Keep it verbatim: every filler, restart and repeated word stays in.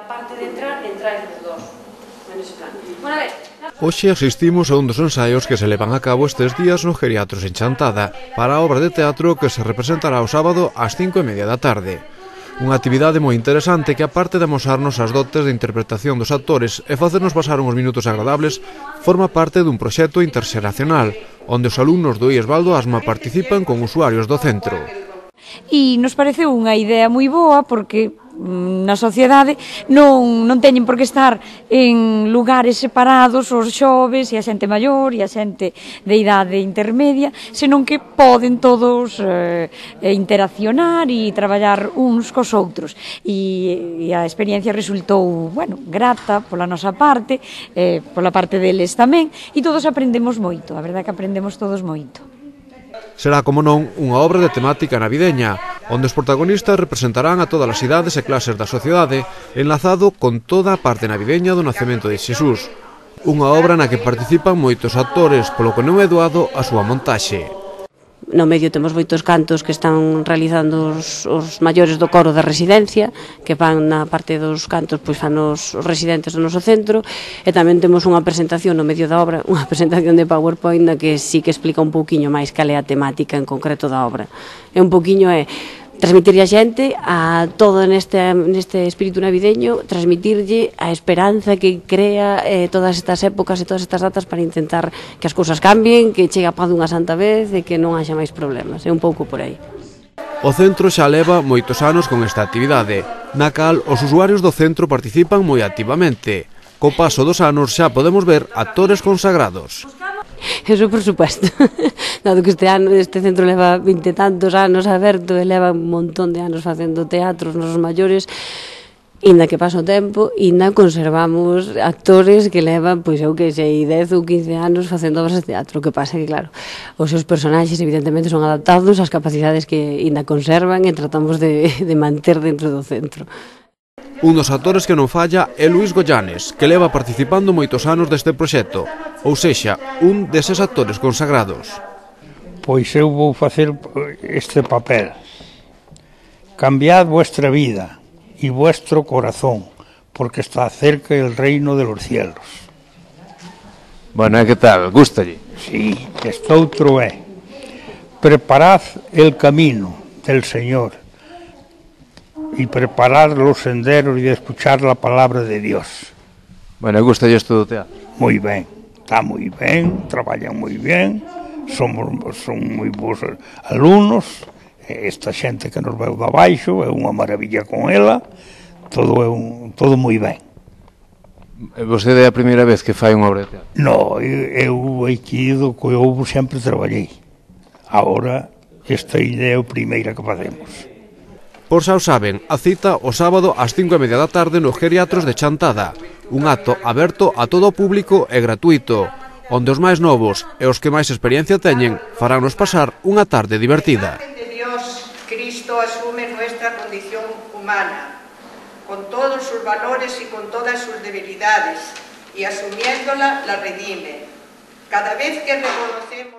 Na parte de entrar, entráis os dos. Bueno, a ver... Hoxe asistimos a un dos ensaios que se levan a cabo estes días no Geriatros en Chantada para a obra de teatro que se representará o sábado ás cinco e media da tarde. Unha actividade moi interesante que, aparte de amosarnos as dotes de interpretación dos actores e facernos pasar uns minutos agradables, forma parte dun proxecto interxeracional, onde os alumnos do I E S Baldo Asma participan con usuarios do centro. E nos pareceu unha idea moi boa porque na sociedade non, non teñen por que estar en lugares separados os xoves e a xente maior e a xente de idade intermedia, senón que poden todos eh, interaccionar e traballar uns cos outros. E, e a experiencia resultou, bueno, grata pola nosa parte, eh, pola parte deles tamén, e todos aprendemos moito, a verdade que aprendemos todos moito. Será, como non, unha obra de temática navideña, onde os protagonistas representarán a todas as idades e clases da sociedade, enlazado con toda a parte navideña do nacemento de Xesús. Unha obra na que participan moitos actores, polo que non é doado a súa montaxe. No medio temos moitos cantos que están realizando os, os maiores do coro da residencia, que van na parte dos cantos, pois fan os, os residentes do noso centro, e tamén temos unha presentación no medio da obra, unha presentación de PowerPoint na que sí que explica un pouquiño máis cal é a temática en concreto da obra. É un pouquiño é transmitirlle a xente a todo neste, neste espírito navideño, transmitirlle a esperanza que crea eh, todas estas épocas e todas estas datas para intentar que as cousas cambien, que chegue a paz dunha santa vez e que non haxa máis problemas. É un pouco por aí. O centro xa leva moitos anos con esta actividade, na cal os usuarios do centro participan moi activamente. Co paso dos anos xa podemos ver actores consagrados. Eso por supuesto, dado que este ano este centro leva vinte e tantos anos aberto e leva un montón de anos facendo teatros nos maiores, inda que paso o tempo, inda conservamos actores que levan, pois eu que sei, dez ou quince anos facendo obras de teatro. O que pasa que, claro, os seus personaxes evidentemente son adaptados ás capacidades que inda conservan e tratamos de, de manter dentro do centro. Un dos actores que non falla é Luís Goyanes, que leva participando moitos anos deste proxecto, ou sexa, un deses actores consagrados. Pois eu vou facer este papel. Cambiad vuestra vida e vuestro corazón, porque está cerca el reino de los cielos. Bueno, e que tal? Gústalle? Sí, este outro é. Preparad el camino del Señor y preparar los senderos y escuchar la palabra de Dios. Bueno, gusta isto do teatro? Moi ben, está moi ben, traballan moi ben, somos, son moi bons alumnos, esta xente que nos veu da baixo é unha maravilla con ela, todo é un, todo moi ben. Vostede é a primeira vez que fai unha obra de teatro? No, eu aquí do que houve sempre traballei. Agora, esta idea é a primeira que facemos. Por xa o saben, a cita o sábado ás cinco e media da tarde no Geriatros de Chantada, un acto aberto a todo o público e gratuito, onde os máis novos e os que máis experiencia teñen faránnos pasar unha tarde divertida. De Dios, Cristo asume nuestra condición humana, con todos sus valores y con todas sus debilidades, y asumiéndola la redime. Cada vez que reconocemos